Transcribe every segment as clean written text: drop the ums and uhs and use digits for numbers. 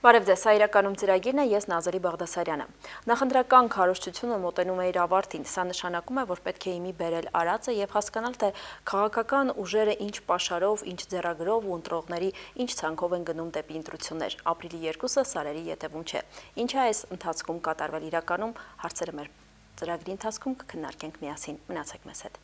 Բարև ձեզ, իրականում ծրագիրն է, ես Նազարի Բաղդասարյանը։ Նախընտրական քարոզչությունը մոտենում է իր ավարտին, սա նշանակում է, որ պետք է իմի բերել արածը եւ հասկանալ, թե քաղաքական ուժերը ինչ պաշարով, ինչ ձեռագրով ու ընտրողների ինչ ցանկով են գնում դեպի ընտրություններ։ Ապրիլի 2-ը սարերի ետևում չէ։ Ինչ է այս ընթացքում կատարվել իրականում, հարցերը մեր ծրագրի ընթացքում կքննարկենք միասին։ Մնացեք մեզ հետ։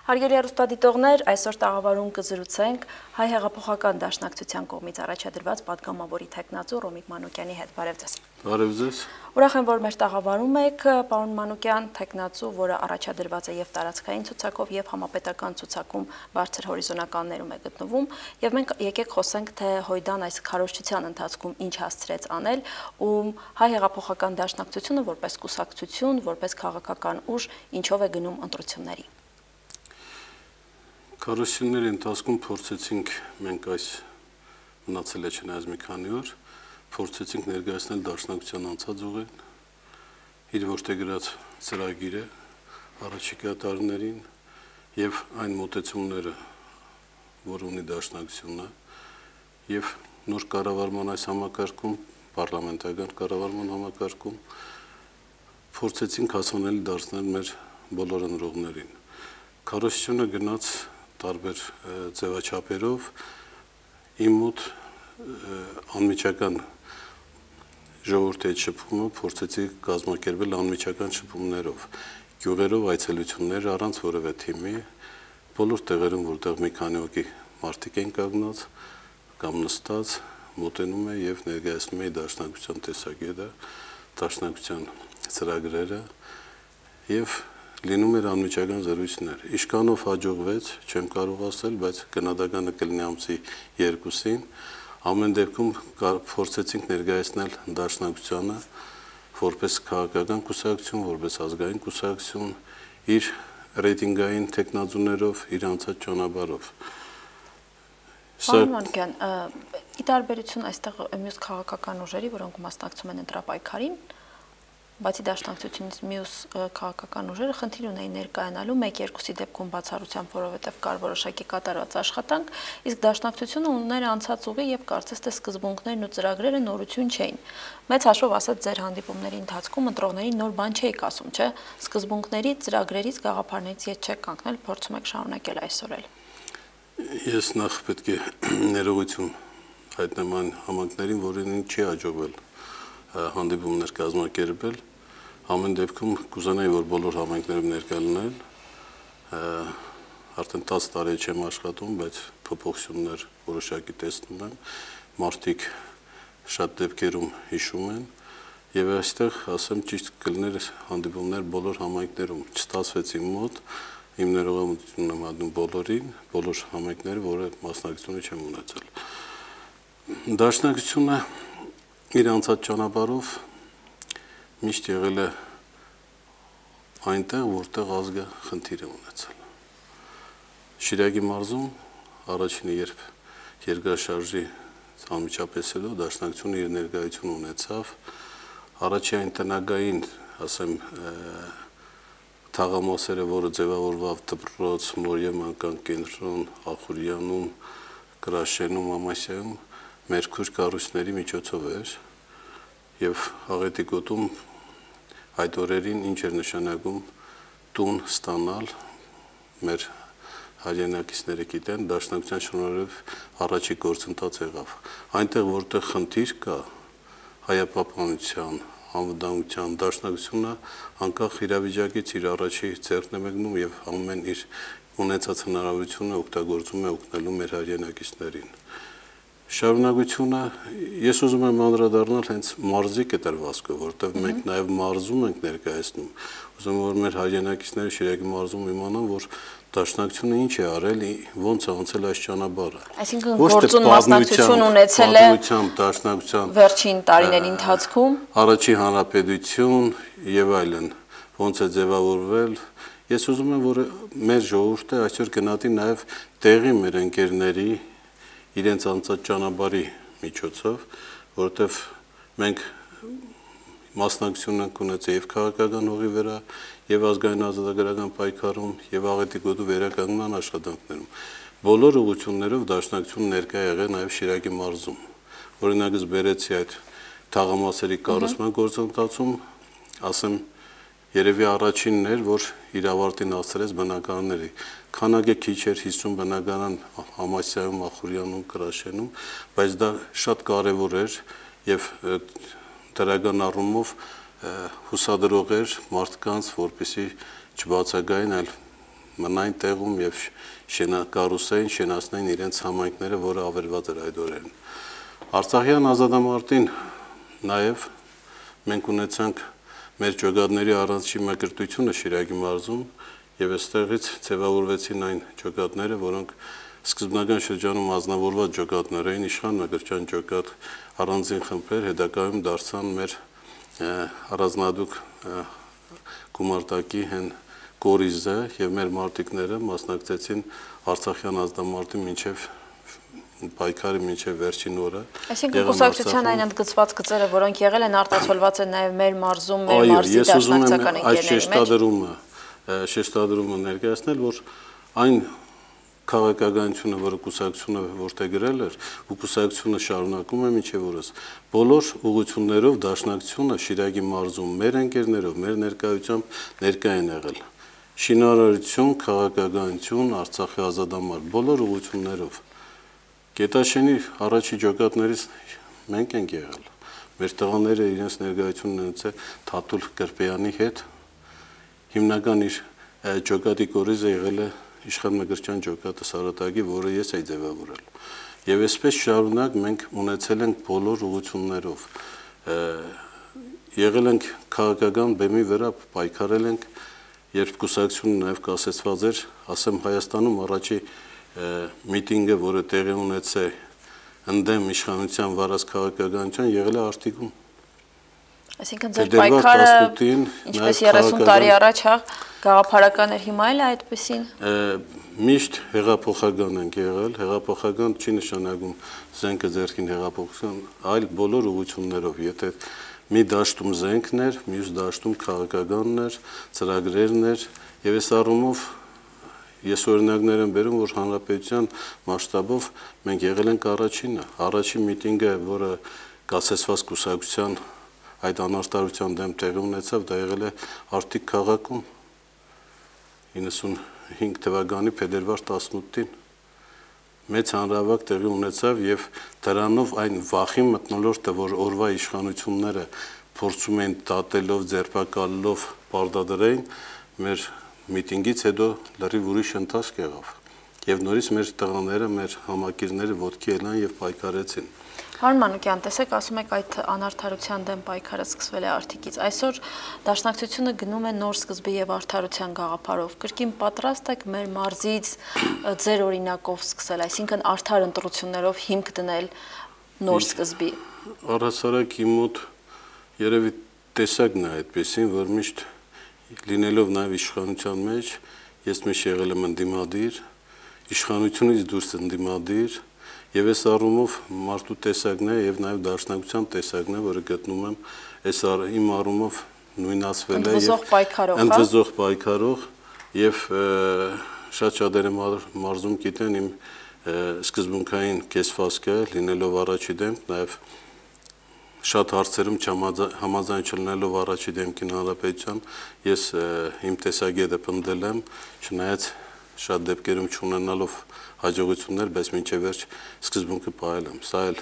Հարգելի հեռուստադիտողներ, այսօր տաղավարում կզրուցենք Հայ հեղափոխական դաշնակցության կողմից առաջադրված պատգամավորի թեկնածու Ռոմիկ Մանուկյանի հետ։ Բարև ձեզ։ Բարև ձեզ։ Ուրախ եմ, որ մեր տաղավարում եք, պարոն Մանուկյան, թեկնածու, որը առաջադրված է եւ տարածքային ցուցակով եւ համապետական ցուցակում բարձր հորիզոնականներում է գտնվում, եւ մենք եկեք խոսենք, թե Հույդան այս քարոզչության ընթացքում ինչ հասցրեց անել, ու Հայ հեղափոխական դաշնակցությունը որպես կուսակցություն, որպես քաղաքական ուժ, ինչով է գնում ընտրությունների։ Քարոզությունների ընթացքում փորձեցինք մենք այս մնացել է չնայած մի քանի օր, փորձեցինք ներկայացնել դաշնակցության անցած ուղին, իր որդեգրած ծրագիրը առաջիկա տարիներին եւ այն մոտեցումները, որ ունի դաշնակցությունը եւ նոր կառավարման այս համակարգում, պարլամենտական կառավարման համակարգում փորձեցինք հասանելի դարձնել մեր բոլոր ընտրողներին։ Քարոզությունը գնաց տարբեր ձևաչափերով իմ մոտ անմիջական ժողովրդի հետ շփումը փորձեցի կազմակերպել անմիջական շփումներով, գյուղերով այցելություններ առանց որևէ թիմի, բոլոր տեղերում, որտեղ մի քանի հոգի մարդիկ են կանգնած կամ նստած, մոտենում է եւ ներկայացնում է դաշնակցության տեսակետը, դաշնակցության ծրագրերը եւ լինում էր անմիջական զրույցներ։ Իշքանով հաջողվեց, չեմ կարող ասել, բայց գնահատականը կլինի ամսի 2-ին։ Ամեն դեպքում փորձեցինք ներկայացնել դաշնակցությանը որպես քաղաքական կուսակցություն, որպես ազգային կուսակցություն, իր ռեյտինգային տեխնազուներով, իր անցած ճանապարհով։ Պարոն Մանուկյան, ի տարբերություն այստեղ մյուս քաղաքական ուժերի, որոնք մասնակցում են ընտրապայքարին, բացի դաշնակցությունից մյուս քաղաքական ուժերը խնդիր ունեին ներկայանալու 1-2-ի դեպքում բացառությամբ, որովհետև կար որոշակի կատարված աշխատանք, իսկ դաշնակցությունը ուներ անցած ուղի եւ կարծես թե սկզբունքներն ու ծրագրերը նորություն չէին։ Մեծ հաշվով ասած, ձեր հանդիպումների ընթացքում ընտրողներին նոր բան չէիք ասում, չէ՞։ Սկզբունքների, ծրագրերից, գաղափարներից ետ չեք կանգնել, փորձում եք շարունակել այսօր էլ։ Ես նախ պետք է ներողություն հայտնեմ այն համայնքներին, որին չի հաջողվել հանդիպումներ կազմակերպել, ամեն դեպքում կուզենայի, որ բոլոր համայնքներում ներկա լինել, արդեն 10 տարի չեմ աշխատում, բայց փոփոխություններ որոշակի տեսնում եմ, մարդիկ շատ դեպքերում հիշում են, եւ այստեղ ասեմ ճիշտ կլիներ հանդիպումներ բոլոր համայնքներում, չստացվեց իմ մոտ, իմ ներողամտությունն եմ անում բոլորին, բոլոր համայնքները, որը մասնակցությունը չեմ ունեցել։ Դաշնակցությունը իր անցած ճանապարհով միշտ եղել է այնտեղ, որտեղ ազգը խնդիր է ունեցել։ Շիրակի մարզում առաջինը երբ երկրաշարժի անմիջապես հետո դաշնակցությունը իր ներկայություն ունեցավ, առաջի այն տնագային, ասեմ, թաղամասերը, որը ձևավորվավ դպրոց, Մորիեմանական կենտրոն, Ախուրյանում, Կրաշենում, Ամասիայում, մեր քուր կառույցների միջոցով էր եւ Աղետի գոտում այդ օրերին ինչ էր նշանակում տուն ստանալ մեր հայրենակիցները գիտեն դաշնակցության շնորհիվ առաջի գործընթաց եղավ այնտեղ որտեղ խնդիր կա հայապահպանության անվտանգության դաշնակցությունը անկախ իրավիճակից իր առաջի ձեռքն է մեկնում եւ ամեն իր ունեցած հնարավորությունը օգտագործում է օգնելու մեր հայրենակիցներին Շարունակությունը ես ուզում եմ անդրադառնալ հենց մարզի կտրվածքով, որտեղ մենք նաև մարզում ենք ներկայացնում։ Ուզում եմ որ մեր հայրենակիցները Շիրակի մարզում իմանան, որ դաշնակցությունը ինչ է արել, ոնց է անցել այս ճանապարհը։ Այսինքն գործուն մասնակցություն ունեցել է դաշնակցության վերջին տարիների ընթացքում առաջի հանրապետություն եւ այլն, ոնց է ձևավորվել։ Ես ուզում եմ որ մեր ժողովուրդը այսօր գնահատի նաև տեղի մեր ընկերների իրենց անցած ճանապարհի միջոցով, որովհետև մենք մասնակցություն ենք ունեցել եւ քաղաքական հողի վրա, եւ ազգային ազատագրական պայքարում, եւ աղետի գոտու վերականգնման աշխատանքներում։ Բոլոր ուղղություններով դաշնակցությունը ներկա եղել նաեւ Շիրակի մարզում։ Օրինակս բերեցի այդ թաղամասերի կառուցման գործընթացում, ասեմ, երևի առաջինն էր, որ իր ավարտին հասցրեց բնակարանների։ Քանակը քիչ էր 50 բնակարան Համասյայում, Ախուրյանում, Կրաշենում, բայց դա շատ կարևոր էր եւ դրական առումով հուսադրող էր մարդկանց, որպեսզի չբացակային, այլ մնային տեղում եւ կառուցեին, շենացնեին իրենց համայնքները, որը ավերված էր այդ օրերին։ Արցախյան ազատամարտին նաեւ մենք ունեցանք մեր ջոկատների առանցքի մկրտությունը Շիրակի մարզում եւ այստեղից ձևավորվեցին այն ջոկատները, որոնք սկզբնական շրջանում ազնվորված ջոկատներ էին, իշխան մկրտչյան ջոկատ առանձին խմբեր, հետագայում դարձան մեր առանձնահատուկ գումարտակի հեն կորիզը եւ մեր մարտիկները մասնակցեցին Արցախյան ազատամարտի մինչեւ պայքարի մինչեւ վերջին օրը։ Այսինքն կուսակցության այն ընդգծված գծերը, որոնք եղել են արտացոլված են նաեւ մեր մարզում, մեր մարզի դաշնակցական ընկերների մեջ։ Շեշտադրումը ներկայացնել, որ այն քաղաքականությունը, որը կուսակցությունը որտեղ գրել էր, ու կուսակցությունը շարունակում է մինչև օրս, բոլոր ուղղություններով դաշնակցությունը Շիրակի մարզում մեր ընկերներով, մեր ներկայությամբ ներկա են եղել։ Շինարարություն, քաղաքականություն, Արցախի ազատամարտ, բոլոր ուղղություններով։ Գետաշենի առաջի ջոկատներից մենք ենք եղել։ Մեր տղաները իրենց ներկայությունն ունեցել Թաթուլ Կրպեյանի հետ։ Հիմնական իր ջոկատի կորիզը եղել է իշխան մկրտչյան ջոկատը Սարատակի, որը ես էի ձևավորել։ Եվ այսպես շարունակ մենք ունեցել ենք բոլոր ուղղություններով։ Եղել ենք քաղաքական բեմի վրա, պայքարել ենք, երբ կուսակցությունը նաև կասեցված էր, ասեմ Հայաստանում առաջի միտինգը, որը տեղի ունեցել ընդդեմ իշխանության վարած քաղաքականության, եղել է Արտիկում։ Այսինքն ձեր պայքարը, ինչպես 30 տարի առաջ գաղափարական էր, հիմա էլ է այդպեսին։ Միշտ հեղափոխական ենք եղել, հեղափոխական չի նշանակում զենքը ձեռքին հեղափոխություն, այլ բոլոր ուղղություններով, եթե մի դաշտում զենքն էր, մյուս դաշտում քաղաքականն էր, ծրագրերն էր, եւ այս առումով ես օրինակներ եմ բերում, որ հանրապետության մասշտաբով մենք եղել ենք առաջինը, առաջին միտինգը, որը կասեցված կուսակցության այդ անարտարության դեմ տեղի ունեցավ, դա եղել է Արտիկ քաղաքում 95 թվականի փետրվար 18-ին մեծ հանրահավաք տեղի ունեցավ եւ դրանով այն վախի մթնոլորտը, որ օրվա իշխանությունները փորձում են դատելով, ձերբակալելով պարտադրեին, մեր միտինգից հետո լրիվ ուրիշ ընթացք եղավ եւ նորից մեր տղաները, մեր համակիրները ոտքի ելան եւ պայքարեցին։ Պարոն Մանուկյան, տեսեք, ասում եք այդ անարդարության դեմ պայքարը սկսվել է Արտիկից։ Այսօր դաշնակցությունը գնում է նոր սկզբի եւ արդարության գաղափարով։ Կրկին պատրաստ եք մեր մարզից ձեր օրինակով սկսել, այսինքն արդար ընտրություններով հիմք դնել նոր սկզբի։ Առհասարակ իմ մոտ երևի տեսակն է այդպեսին, որ միշտ լինելով նաեւ իշխանության մեջ, ես միշտ եղել եմ ընդդիմադիր, իշխանությունից դուրս ընդդիմադիր, եւ այս առումով մարդու տեսակն է եւ նաեւ դաշնակցության տեսակն է, որը գտնում եմ այս իմ առումով նույնացվել է եւ ընդվզող պայքարող եւ շատ շատերը մարզում գիտեն իմ սկզբունքային կեսվածքը, լինելով առաջի դեմք, նաեւ շատ հարցերում համաձայն չլինելով առաջի դեմքին հանրապետության, ես իմ տեսակետը պնդել եմ, չնայած շատ դեպքերում չունենալով հաջողություններ, բայց մինչև վերջ սկզբունքը պահել եմ։ Սա էլ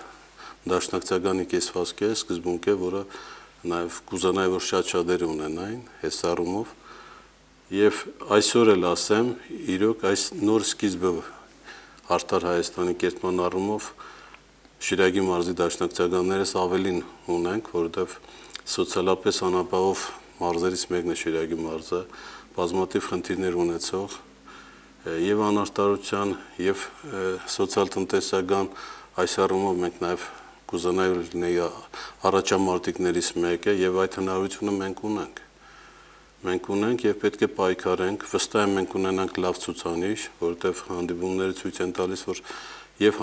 դաշնակցականի կեսվածք է, սկզբունք է, որը նաև կուզանայի, որ շատ շատերը ունենային այս առումով։ Եվ այսօր էլ ասեմ, իրոք այս նոր սկիզբը արդար Հայաստանի կերտման առումով Շիրակի մարզի դաշնակցականներս ավելին ունենք, որովհետև սոցիալապես անապահով մարզերից մեկն է Շիրակի մարզը, բազմաթիվ խնդիրներ ունեցող եւ անարտարության եւ սոցիալ-տնտեսական այս առումով մենք նաեւ կուզանայի լինեի առաջամարտիկներից մեկը եւ այդ հնարավորությունը մենք ունենք։ Մենք ունենք եւ պետք է պայքարենք, վստահ եմ մենք ունենանք լավ ցուցանիշ, որովհետեւ հանդիպումները ցույց են տալիս, որ եւ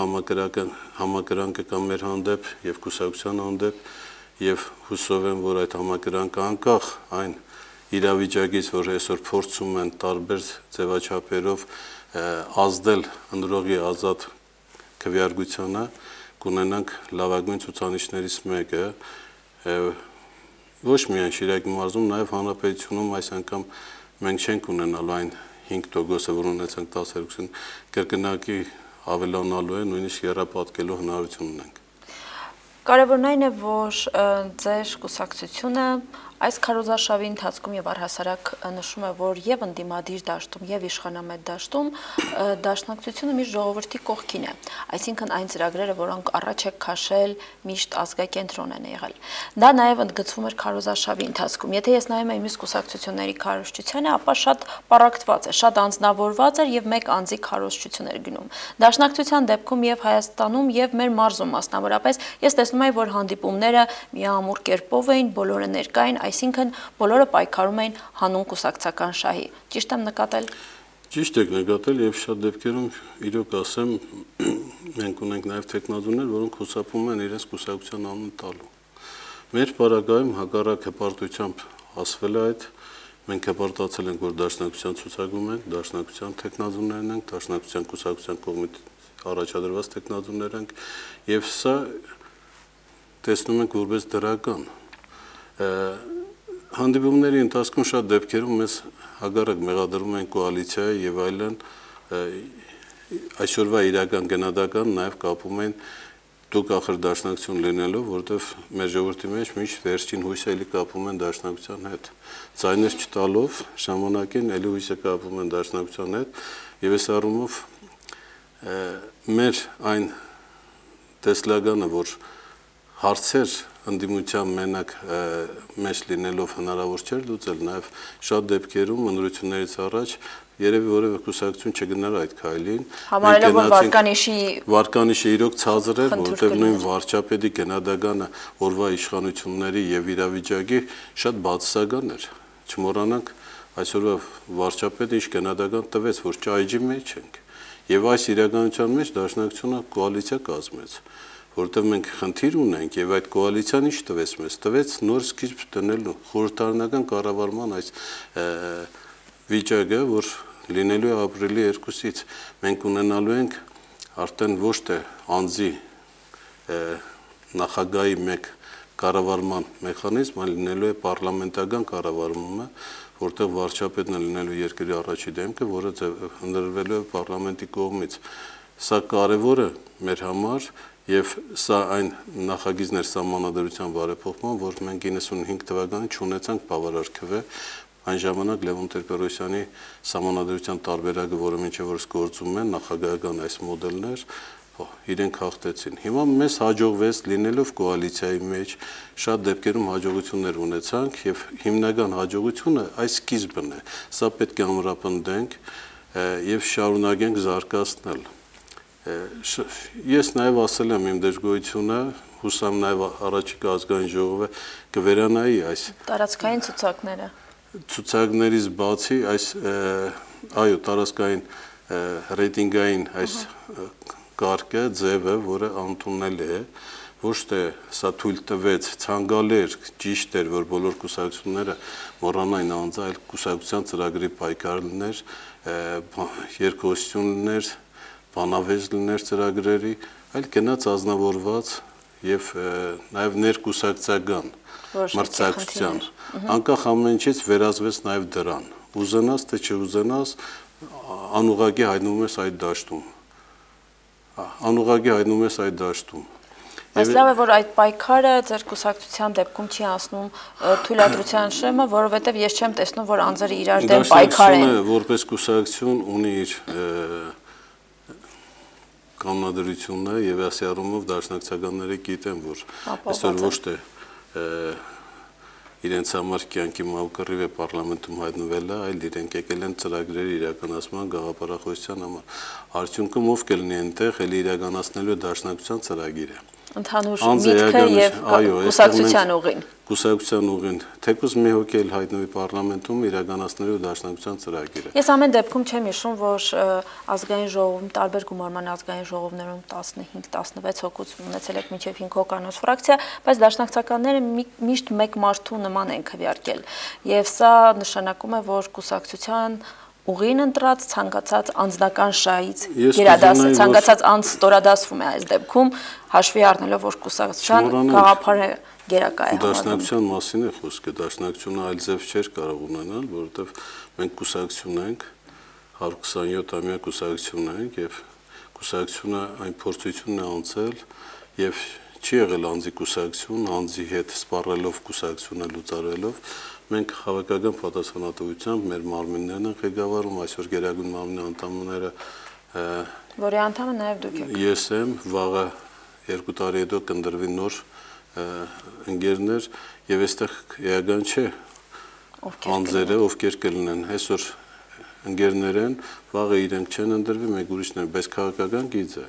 համակրանքը կա մեր հանդեպ եւ կուսակցության հանդեպ եւ հուսով եմ, որ այդ համակրանքը անկախ այն իրավիճակից, որ այսօր փորձում են տարբեր ձևաչափերով ազդել ընդրողի ազատ քվեարկությանը, կունենանք լավագույն ցուցանիշներից մեկը, ոչ միայն Շիրակի մարզում, նաեւ հանրապետությունում այս անգամ մենք չենք ունենալու այն 5%-ը, որ ունեցանք 10%, կրկնակի ավելանալու է, նույնիսկ եռապատկելու հնարավորություն ունենք։ Կարևորն այն է, որ ձեր կուսակցությունը այս քարոզարշավի ընթացքում եւ առհասարակ նշում է, որ եւ ընդդիմադիր դաշտում եւ իշխանամետ դաշտում դաշնակցությունը միշտ ժողովրդի կողքին է, այսինքն այն ծրագրերը, որոնք առաջ է քաշել, միշտ ազգակենտրոն են եղել։ Դա նաեւ ընդգծվում էր քարոզարշավի ընթացքում։ Եթե ես նայում եմ մյուս կուսակցությունների քարոզչությանը, ապա շատ պարակտված է, շատ անձնավորված էր եւ մեկ անձի քարոզչություն էր գնում։ Դաշնակցության դեպքում եւ Հայաստանում եւ մեր մարզում մասնավորապես ես տեսնում եմ, որ հանդիպումները միամուռ կերպով էին, բոլորը ներկա էին, այսինքն բոլորը պայքարում էին հանուն կուսակցական շահի։ Ճիշտ եմ նկատել։ Ճիշտ եք նկատել եւ շատ դեպքերում իրոք ասեմ մենք ունենք նաեւ տեխնազուներ, որոնք խուսափում են իրենց կուսակցության անուն տալու։ Մեր պարագայում հակառակ հպարտությամբ ասվել է այդ, մենք հպարտացել ենք, որ դաշնակցության ցուցակում ենք, դաշնակցության տեխնազուներն ենք, դաշնակցության կուսակցության կողմից առաջադրված տեխնազուներ ենք եւ սա տեսնում ենք որպես դրական։ Հանդիպումների ընթացքում շատ դեպքերում մեզ հակառակ մեղադրում են կոալիցիայի եւ այլն այսօրվա իրական գնահատական նաեւ կապում են դուք ախր դաշնակցություն լինելով, որտեվ մեր ժողովրդի մեջ միշտ վերջին հույսը էլի կապում են դաշնակցության հետ։ Ձայներ չտալով ժամանակին էլի հույսը կապում են դաշնակցության հետ եւ այս առումով մեր այն տեսլականը, որ հարցեր ընդդիմության մենակ մեջ լինելով հնարավոր չէր լուծել, նաև շատ դեպքերում ընդրություններից առաջ երևի որևէ կուսակցություն չգնար այդ քայլին։ Համարելով որ վարկանիշը իրոք ցածր էր, որտեղ նույն վարչապետի գնահատականը օրվա իշխանությունների եւ իրավիճակի շատ բացասական էր։ Չմոռանանք այսօրվա վարչապետը ինչ գնահատական տվեց, որ ճայջի մեջ ենք։ Եվ այս իրականության մեջ դաշնակցությունը կոալիցիա կազմեց, որտեղ մենք խնդիր ունենք եւ այդ կոալիցիան ինչ տվեց մեզ, տվեց նոր սկիզբ դնելու խորհրդարանական կառավարման այս վիճակը, որ լինելու է ապրիլի 2-ից մենք ունենալու ենք արդեն ոչ թե անձի նախագահի մեկ կառավարման մեխանիզմ, այլ լինելու է պարլամենտական կառավարումը, որտեղ վարչապետն է լինելու երկրի առաջի դեմքը, որը ընդրվելու է պարլամենտի կողմից։ Սա կարևոր է մեր համար եւ սա այն նախագիծներ սահմանադրության բարեփոխման, որ մենք 95 թվականին չունեցանք բավարար քվե, այն ժամանակ Լևոն Տեր-Պետրոսյանի սահմանադրության տարբերակը, որը մինչև օրս գործում է, նախագահական այս մոդելներ, իրենք հաղթեցին։ Հիմա մեզ հաջողվեց լինելով կոալիցիայի մեջ, շատ դեպքերում հաջողություններ ունեցանք եւ հիմնական հաջողությունը այս սկիզբն է։ Սա պետք է ամրապնդենք եւ շարունակենք զարգացնել։ Ես նաև ասել եմ իմ դժգոհությունը, հուսամ նաև առաջիկա ազգային ժողովը կվերանայի այս տարածքային ցուցակները։ Ցուցակներից բացի այս այո տարածքային ռեյտինգային այս կարգը, ձևը, որը ընդունելի է, ոչ թե սա թույլ տվեց, ցանկալի էր, ճիշտ էր, որ բոլոր կուսակցությունները մոռանային անձը, այլ կուսակցության ծրագրի պայքարներ, երկխոսություններ, բանավեճ լիներ ծրագրերի, այլ գնաց ազնվորված եւ նաեւ ներկուսակցական մրցակցության, անկախ ամեն ինչից վերածվեց նաեւ դրան։ Ուզենաս թե չուզենաս, անուղղակի հայտնվում ես այդ դաշտում։ Անուղղակի հայտնվում ես այդ դաշտում։ Բայց լավ է, որ այդ պայքարը ձեր կուսակցության դեպքում չի անցնում թույլատրության շեմը, որովհետեւ ես չեմ տեսնում, որ անձերը իրար դեմ պայքար են։ Դաշնակցությունը որպես կուսակցություն ունի իր կանոնադրությունը եւ ասի առումով դաշնակցականները գիտեն, որ այսօր ոչ թե իրենց համար կյանքի մակարիվ է պարլամենտում հայտնվելը, այլ իրենք եկել են ծրագրերի իրականացման գաղափարախոսության համար։ Արդյունքում ով կլինի այնտեղ, էլի իրականացնելու դաշնակցության ծրագիրը։ Ընդհանուր միտքը եւ կուսակցության ուղին։ Կուսակցության ուղին, թեկուզ մի հոգի էլ հայտնվի պարլամենտում իրականացնելու դաշնակցության ծրագիրը։ Ես ամեն դեպքում չեմ հիշում, որ ազգային ժողովում, տարբեր գումարման ազգային ժողովներում 15-16 հոգուց ունեցել եք մինչև 5 հոկանոց ֆրակցիա, բայց դաշնակցականները միշտ մեկ մարդու նման են քվեարկել։ Եվ սա նշանակում է, որ կուսակցության ուղին ընտրած ցանկացած անձնական շահից գերադասը ցանկացած անձ ստորադասվում է այս դեպքում հաշվի առնելով որ կուսակցության գաղափարը գերակա է համարվում։ Դաշնակցության մասին է խոսքը, դաշնակցությունը այլ ձև չէր կարող ունենալ, որովհետև մենք կուսակցություն ենք, 127-ամյա կուսակցություն ենք եւ կուսակցությունը այն փորձությունն է անցել եւ չի եղել անձի կուսակցություն, անձի հետ սպառելով կուսակցությունը լուծարելով մենք հավաքական պատասխանատվությամբ մեր մարմիններն են ղեկավարում, այսօր Գերագույն մարմնի անդամները որի անդամը նաև դուք եք։ Ես եմ, վաղը 2 տարի հետո կընտրվի նոր ընկերներ եւ այստեղ էական չէ անձերը ովքեր կլինեն, այսօր ընկերներ են, վաղը իրենք չեն ընտրվի, մեկ ուրիշներ, բայց քաղաքական գիծ է,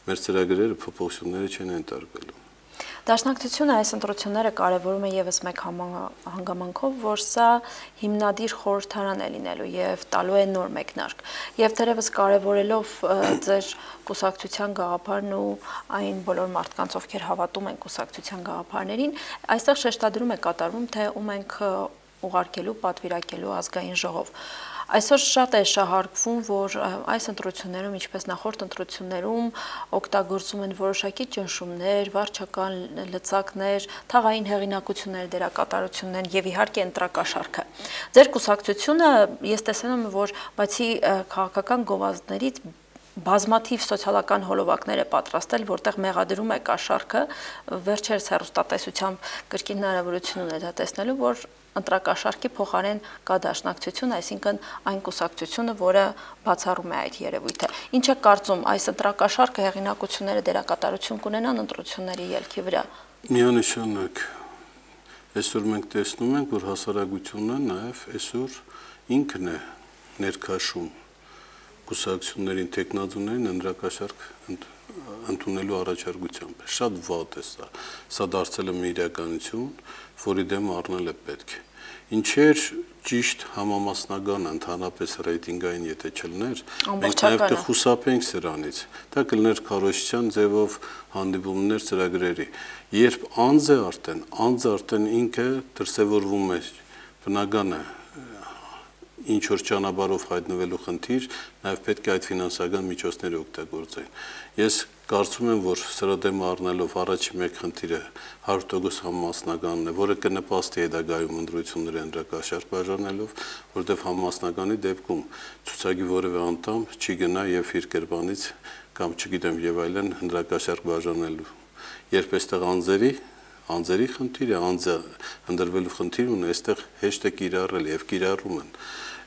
մեր ծրագրերը փոփոխությունները չեն ենթարկվելու։ Դաշնակցությունը այս ընտրությունները կարևորում է եւս մեկ հանգամանքով, որ սա հիմնադիր խորհրդարան է լինելու եւ տալու է նոր մեկնարկ։ Եվ դերևս կարևորելով ձեր կուսակցության գաղափարն ու այն բոլոր մարդկանց, ովքեր հավատում են կուսակցության գաղափարներին, այստեղ շեշտադրում է կատարվում, թե ում ենք ուղարկելու, պատվիրակելու ազգային ժողով։ Այսօր շատ է շահարկվում, որ այս ընտրություններում, ինչպես նախորդ ընտրություններում, օգտագործում են որոշակի ճնշումներ, վարչական լծակներ, թաղային հեղինակություններ, դերակատարություններ եւ իհարկե ընտրակաշառքը։ Ձեր կուսակցությունը ես տեսնում եմ, որ բացի քաղաքական գովազդներից բազմաթիվ սոցիալական հոլովակներ է պատրաստել, որտեղ մեղադրում է կաշառքը, վերջերս հեռուստատեսությամբ կրկին հնարավորություն ունի դա տեսնելու, որ ընտրակաշառքի փոխարեն կա դաշնակցություն, այսինքն այն կուսակցությունը, որը բացառում է այդ երևույթը։ Ինչ է կարծում, այս ընտրակաշառքը հեղինակությունները դերակատարություն կունենան ընտրությունների ելքի վրա։ Միանշանակ։ Այսօր մենք տեսնում ենք, որ հասարակությունը նաև այսօր ինքն է ներքաշում կուսակցություններին, տեխնազուներին ընտրակաշառք ընդունելու առաջարկությամբ։ Շատ վատ է սա։ Սա դարձել է մի իրականություն, որի դեմ առնել է պետք։ Ինչեր ճիշտ համամասնական ընդհանրապես ռեյտինգային եթե չլներ, մենք նաև կխուսափենք սրանից։ Դա կլներ քարոզչության ձևով հանդիպումներ ծրագրերի։ Երբ անձը արդեն ինքը դրսևորվում է, բնական է ինչ որ ճանապարհով հայտնվելու խնդիր, նաև պետք է այդ ֆինանսական միջոցները օգտագործեն։ Ես կարծում եմ, որ սրա դեմ առնելով առաջի մեկ խնդիրը 100% համամասնականն է, որը կնպաստի հետագայում ընտրությունների ընտրակաշառք բաժանելով, որտեղ համամասնականի դեպքում ցուցակի որևէ անդամ չի գնա եւ իր կերպանից կամ չգիտեմ եւ այլն ընտրակաշառք բաժանելու։ Երբ այստեղ անձերի խնդիր է, անձը ընդրվելու խնդիր ունի, այստեղ հեշտ է կիրառել եւ կիրառում են։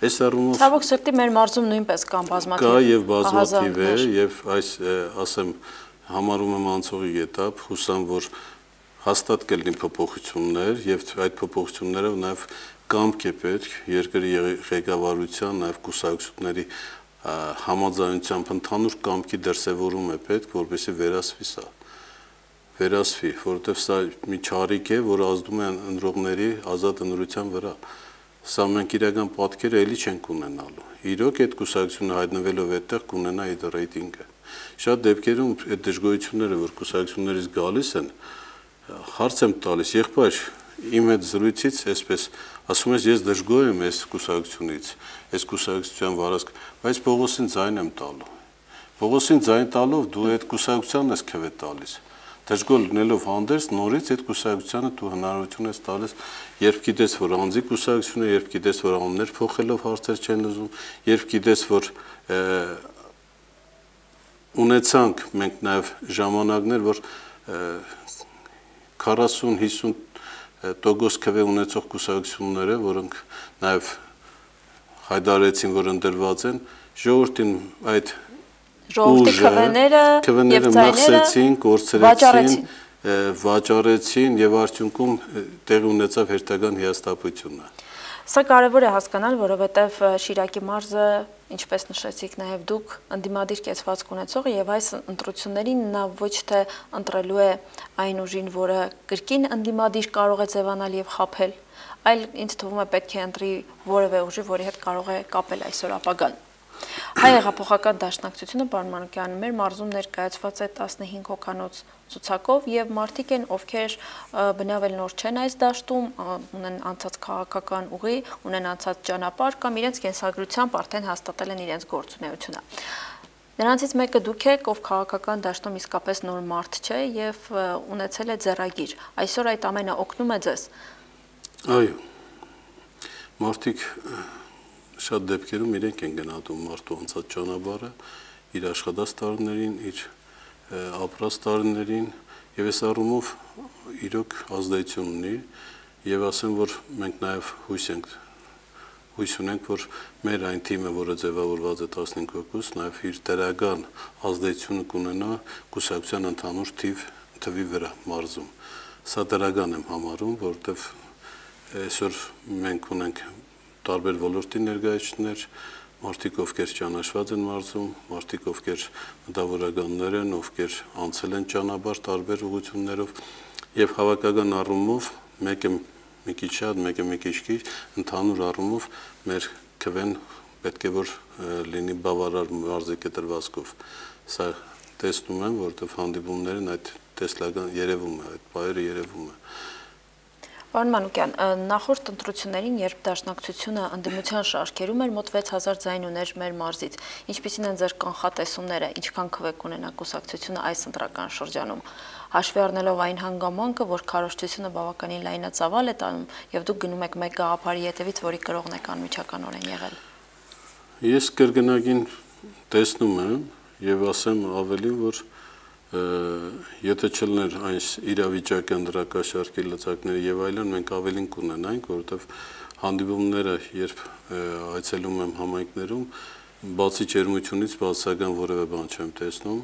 Այս առումով ցավոք սրտի մեր մարզում նույնպես կան բազմաթիվ կա եւ բազմաթիվ է եւ այս ասեմ համարում եմ անցողի էտապ, հուսամ որ հաստատ կլինի փոփոխություններ եւ այդ փոփոխությունները նաեւ կամք է պետք երկրի ղեկավարության նաեւ կուսակցությունների համաձայնությամբ ընդհանուր կամքի դրսևորում է պետք, որպեսզի վերասվի, որովհետեւ սա մի չարիք է, որ ազդում է ընտրողների ազատ ընտրության վրա։ Սա մենք իրական պատկերը էլի չենք ունենալու։ Իրոք այդ կուսակցությունը հայտնվելով այդտեղ կունենա այդ ռեյտինգը։ Շատ դեպքերում այդ դժգոհությունները, որ կուսակցություններից գալիս են, հարց եմ տալիս, եղբայր, իմ հետ զրույցից այսպես ասում ես ես դժգոհ եմ այս կուսակցությունից, այս կուսակցության վարած, բայց Պողոսին ձայն եմ տալու։ Պողոսին ձայն տալով դու այդ կուսակցությանն ես քվե տալիս։ Դժգոհ լինելով հանդերձ նորից այդ կուսակցությանը դու հնարավորություն ես տալիս, երբ գիտես, որ անձի կուսակցություն է, երբ գիտես, որ անուններ փոխելով հարցեր չեն լուծում, երբ գիտես, որ ունեցանք մենք նաև ժամանակներ, որ 40-50% քվե ունեցող կուսակցությունները, որոնք նաև հայտարարեցին, որ ընտրված են, ժողովրդին այդ ժողովրդի քվեները մխսեցին, կորցրեցին, վաճառեցին եւ արդյունքում տեղի ունեցավ հերթական հիասթափությունը։ Սա կարևոր է հասկանալ, որովհետև Շիրակի մարզը ինչպես նշեցիք նաև դուք, ընդդիմադիր կեցվածք ունեցողը եւ այս ընտրություններին նա ոչ թե ընտրելու է այն ուժին, որը կրկին ընդդիմադիր կարող է ձևանալ եւ խաբել, այլ ինձ թվում է պետք է ընտրի որևէ ուժի, որի հետ կարող է կապել այսօր ապագան։ Հայ հեղափոխական դաշնակցությունը պարոն Մանուկյան մեր մարզում ներկայացված է 15 հոգանոց ցուցակով եւ մարդիկ են, ովքեր բնավել նոր չեն այս դաշտում, ունեն անցած քաղաքական ուղի, ունեն անցած ճանապարհ կամ իրենց կենսագրությամբ արդեն հաստատել են իրենց գործունեությունը։ Նրանցից մեկը դուք եք, ով քաղաքական դաշտում իսկապես նոր մարդ չէ եւ ունեցել է ձեռագիր։ Այսօր այդ ամենը օգնում է ձեզ։ Այո։ Մարդիկ շատ դեպքերում իրենք են գնահատում մարդու անցած ճանապարհը, իր աշխատած տարիներին, իր ապրած տարիներին եւ այս առումով իրոք ազդեցություն ունի եւ ասեմ, որ մենք նաեւ հույս ունենք, որ մեր այն թիմը, որը ձևավորված է 15 հոգուց, նաեւ իր դրական ազդեցությունը կունենա կուսակցության ընդհանուր թվի վրա մարզում։ Սա դրական եմ համարում, որովհետեւ այսօր մենք ունենք տարբեր ոլորտի ներկայացուցիչներ, մարդիկ, ովքեր ճանաչված են մարզում, մարդիկ, ովքեր մտավորականներ են, ովքեր անցել են ճանապարհ տարբեր ուղղություններով եւ հավաքական առումով մեկը մի քիչ շատ, մեկը մի քիչ քիչ, ընդհանուր առումով մեր քվեն պետք է որ լինի բավարար մարզի կտրվածքով։ Սա տեսնում եմ, որովհետեւ հանդիպումներն այդ տեսլական երևում է, այդ բայերը երևում է։ Պարոն Մանուկյան, նախորդ ընտրություններին, երբ դաշնակցությունը ընդդիմության շարքերում էր, մոտ 6000 ձայն ուներ մեր մարզից։ Ինչպիսին են ձեր կանխատեսումները, ինչքան քվե կունենա կուսակցությունը այս ընտրական շրջանում։ Հաշվի առնելով այն հանգամանքը, որ քարոզչությունը բավականին լայնածավալ է տանում, եւ դուք գնում եք մեկ գաղափարի հետևից, որի կրողն եք անմիջականորեն եղել։ Ես կրկնակին տեսնում եմ եւ ասեմ ավելի, որ եթե չլներ այս իրավիճակը ընդրակաշարքի լծակները եւ այլն, մենք ավելին կունենայինք, որովհետեւ հանդիպումները, երբ այցելում եմ համայնքներում, բացի ջերմությունից բացական որևէ բան չեմ տեսնում,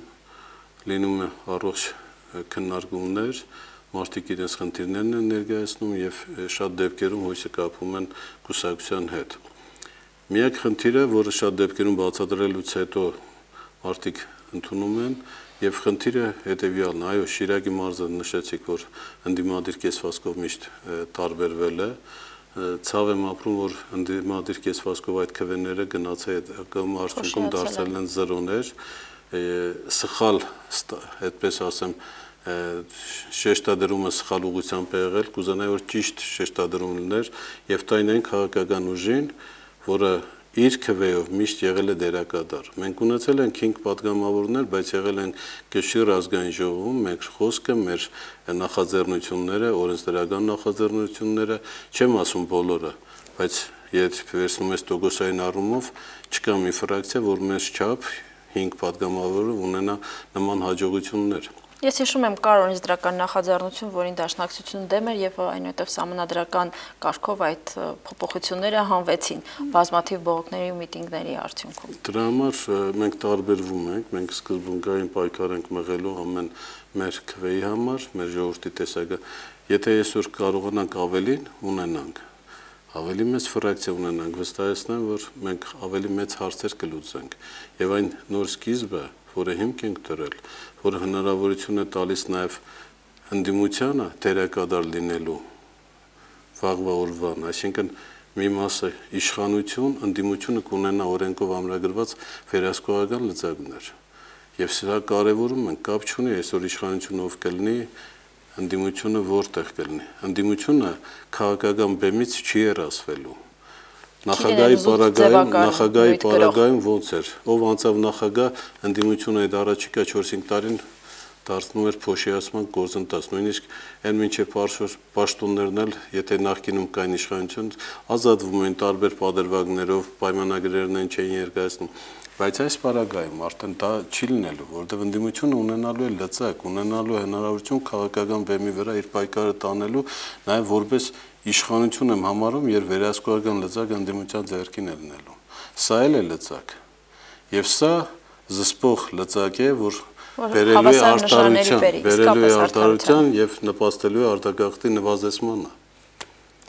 լինում է առողջ քննարկումներ, մարդիկ իրենց խնդիրներն են ներկայացնում եւ շատ դեպքերում հույսը կապում են կուսակցության հետ։ Միակ խնդիրը, որը շատ դեպքերում բացատրելուց հետո մարդիկ ընդունում են, եւ խնդիրը հետեւյալն է, այո, Շիրակի մարզը նշեցիք, որ ընդդիմադիր կեսվածքով միշտ տարբերվել է, ցավ եմ ապրում, որ ընդդիմադիր կեսվածքով այդ քվեները գնացել կամ արդյունքում դարձել են զրոներ, սխալ, այդպես ասեմ, շեշտադրումը սխալ ուղղությամբ է եղել, կուզենայի որ ճիշտ շեշտադրում լիներ եւ տայնային քաղաքական ուժին, որը իր քվեով միշտ եղել է դերակատար։ Մենք ունեցել ենք 5 պատգամավորներ, բայց եղել են Քյուրի ազգային ժողովում, մեր խոսքը, մեր նախաձեռնությունները, օրենսդրական նախաձեռնությունները, չեմ ասում բոլորը, բայց երբ վերցնում ես տոկոսային առումով, չկա մի ֆրակցիա, որ մեծ չափ 5 պատգամավորը ունենա նման հաջողություններ։ Ես հիշում եմ կար օրենսդրական նախաձեռնություն, որին դաշնակցությունը դեմ էր եւ այնուհետեւ սահմանադրական կարգով այդ փոփոխությունները հանվեցին բազմաթիվ բողոքների ու միտինգների արդյունքում։ Դրա համար մենք տարբերվում ենք, մենք սկզբունքային պայքար ենք մղելու ամեն մեր քվեի համար, մեր ժողովրդի տեսակը, եթե այսօր կարողանանք ավելին ունենանք, ավելի մեծ ֆրակցիա ունենանք, վստահեցնեմ, որ մենք ավելի մեծ հարցեր կլուծենք եւ այն նոր սկիզբը, որը հիմք ենք դրել, որը հնարավորություն է տալիս նաև ընդդիմությանը դերակատար լինելու վաղվա օրվան, այսինքն մի մասը իշխանություն, ընդդիմությունը կունենա օրենքով ամրագրված վերահսկողական լծակներ։ Եվ սա կարևորում են, կապ չունի այսօր իշխանությունը ով կլինի, ընդդիմությունը որտեղ կլինի։ Ընդդիմությունը քաղաքական բեմից չի երասվելու։ Նախագահի պարագայում ոնց էր, ով անցավ նախագահ, ընդդիմությունը այդ առաջիկա 4-5 տարին դարձնում էր փոշիացման գործընթաց, նույնիսկ այն մինչև պաշտոններն էլ, եթե նախկինում կային իշխանություն, ազատվում էին տարբեր պատերվակներով, պայմանագրերն չէին ներկայացնում, բայց այս պարագայում արդեն դա չի լինելու, որովհետև ընդդիմությունը ունենալու է լծակ, ունենալու է հնարավորություն քաղաքական բեմի վրա իր պայքարը տանելու, նաև որպես իշխանություն եմ համարում, երբ վերահսկողական լծակ ընդդիմության ձեռքին է լինելու։ Սա էլ է լծակ։ Եվ սա զսպող լծակ է, որ բերելու է արտարության եւ նպաստելու է արտագաղթի նվազեցմանը։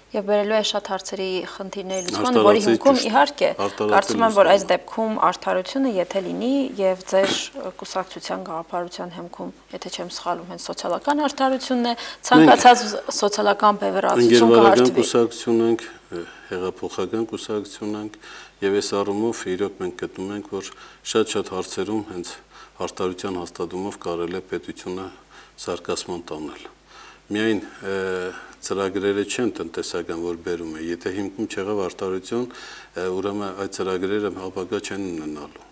Եվ բերելու է շատ հարցերի խնդիրների լուծման, որի հիմքում իհարկե կարծում եմ, որ այս դեպքում արդարությունը եթե լինի եւ ձեր կուսակցության գաղափարության հիմքում, եթե չեմ սխալվում, հենց սոցիալական արդարությունն է, ցանկացած սոցիալական բևեռացություն կհարթվի։ Կուսակցություն ենք, հեղափոխական կուսակցություն ենք եւ այս առումով իրոք մենք գտնում ենք, որ շատ հարցերում հենց արդարության հաստատումով կարելի է պետությունը զարգացման տանել։ Միայն ծրագրերը չեն տնտեսական, որ բերում է, եթե հիմքում չեղավ արդարություն, ուրեմն այդ ծրագրերը ապագա չեն ունենալու։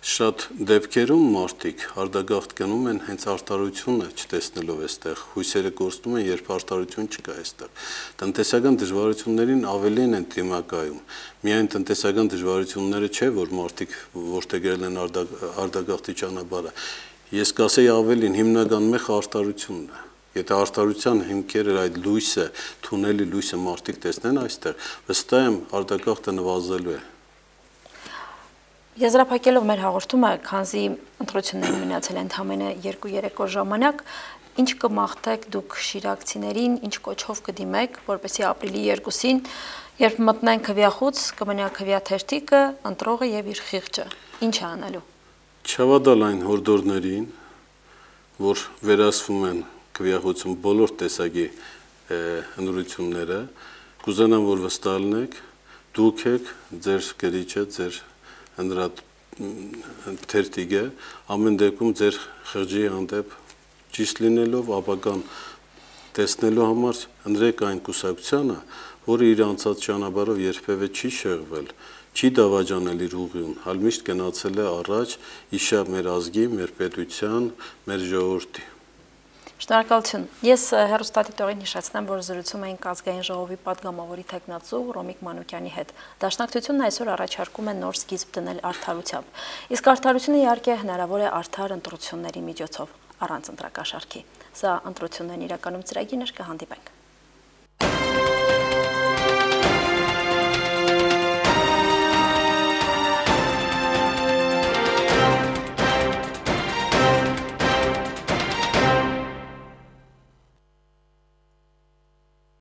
Շատ դեպքերում մարդիկ արդագաղթ գնում են հենց արդարությունը չտեսնելով այստեղ, հույսերը կորցնում են, երբ արդարություն չկա այստեղ։ Տնտեսական դժվարություններին ավելին են դիմակայում։ Միայն տնտեսական դժվարությունները չէ, որ մարդիկ որդեգրել են արդագաղթի ճանապարհը։ Ես կասեի ավելին, հիմնական մեխը արդարությունն է։ Եթե արդարության հիմքերը այդ լույսը, թունելի լույսը մարդիկ տեսնեն այստեղ, վստահ եմ արդագաղթը նվազելու է։ Եզրափակելով մեր հաղորդումը, քանզի ընտրություններին մնացել են ընդամենը 2-3 օր ժամանակ, ինչ կմաղթեք դուք շիրակցիներին, ինչ կոչով կդիմեք, որպեսզի ապրիլի 2-ին, երբ մտնեն քվյախոց, կմնա քվյաթերթիկը, ընտրողը եւ իր խիղճը, ինչ է անելու։ Չավադալ այն հորդորներին, որ վերահսվում են քվյախոցում բոլոր տեսակի ընտրությունները, կուզենամ, որ վստահ լինեք, դուք եք, ձեր գրիչը, ձեր թերթիկը, ամեն դեպքում ձեր խղճի հանդեպ ճիշտ լինելով, ապագան տեսնելու համար ընտրեք այն կուսակցությանը, որը իր անցած ճանապարհով երբևէ չի շեղվել, չի դավաճանել իր ուղին, այլ միշտ գնացել է առաջ իշա մեր ազգի, մեր պետության, մեր ժողովրդի։ Շնորհակալություն։ Ես հեռուստադիտողին հիշեցնեմ, որ զրուցում էինք ազգային ժողովի պատգամավորի թեկնածու Ռոմիկ Մանուկյանի հետ։ Դաշնակցությունն այսօր առաջարկում է նոր սկիզբ դնել արդարությամբ։ Իսկ արդարությունը իհարկե հնարավոր է արդար ընտրությունների միջոցով, առանց ընտրակաշառքի։ Սա ընտրություններն իրականում ծրագիրն էր, կհանդիպենք։